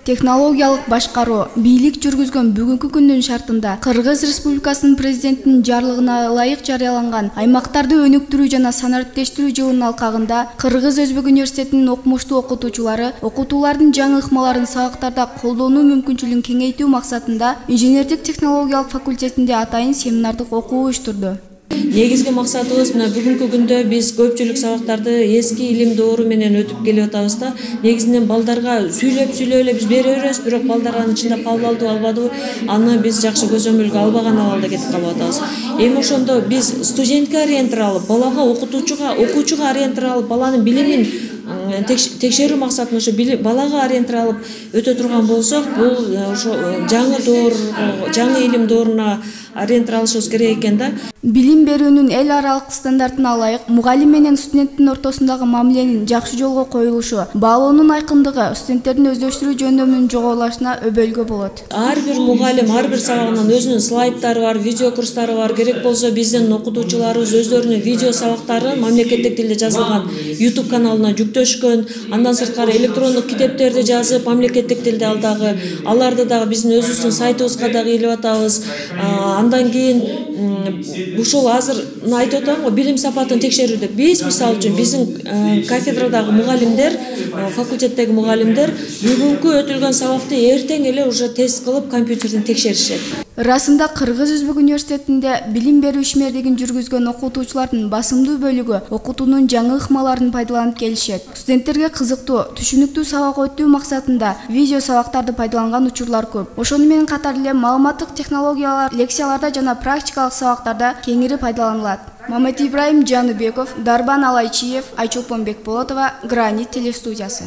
Технологиялык башкаруу бийлик жүргүзгөн бүгүнкү күндүн шартында Кыргыз Республикасынын президентинин жарлыгына ылайык жарыяланган аймактарды өнүктүрүү жана санариптештирүү жылынын алкагында Кыргыз Өзбек университетинин окумуштуу окутуучулары окутуулардын жаңы ыкмаларын сабактарда колдонуу мүмкүнчүлүгүн кеңейтүү максатында инженердик технологиялык факультетинде атайын семинардык окуу уюштурду. Негизги максатыбыз мына бүгүнкү күндө биз көпчүлүк сабактарды эски илим доору менен өтүп келип атабыз да. Негизинен балдарга сүйлөп эле биз бере беребиз, бирок балдар анын ичинде кабыл алды албадыбы, аны биз жакшы көзөмөлгө албаган абалда кетип калып атабыз. Эми ошондо биз студентке ориентир алып, балага окуучуга ориентир алып, баланын билимин текшерүү максатында ошо балага ориентир алып өтө турган болсок, бул ошо жаңы илим дооруна ориентир алышыбыз керек экен да. Билим берүүнүн эл аралык стандартына ылайык мугалим менен студенттин ортосундагы мамиленин жакшы жолго коюлушу, баалоонун айкындыгы студенттердин өздөштүрүү жөндөмүнүн жогорулашына өбөлгө болот. Ар бир мугалим ар бир сабагынан өзүнүн слайдтары бар, видео курстары бар. Керек болсо биздин окутуучуларыбыз өздөрүнүн видео сабактарын мамлекеттик тилде жазылган YouTube каналына жүктөшкөн. Андан сырткары электрондук китептерди жазып, мамлекеттик тилде аларды дагы биздин өзүбүздүн сайтыбызга дагы илип атабыз. Андан кийин ушул азыр айтып атам го, билим сапатын текшерүү деп биз мисалы үчүн биздин кафедрадагы мугалимдер, факультеттеги мугалимдер бүгүнкү өтүлгөн сабакты эртең эле уже тест кылып компьютерден текшеришет. Расында Кыргыз Өзбек университетинде билим берүү ишмердигин жүргүзгөн окутуучулардын басымдуу бөлүгү окутуунун жаңы ыкмаларын пайдаланып келишет. Студенттерге кызыктуу, түшүнүктүү сабак өтүү максатында видео сабактарды пайдаланган учурлар көп. Ошону менен катар эле маалыматтык технологиялар лекцияларда жана практикалык сабактарда кеңири пайдаланылат. Мамет Ибраим Жаныбеков, Дарбан Алайчиев, Айчолпон Бекболотова, Гранит телестудиясы.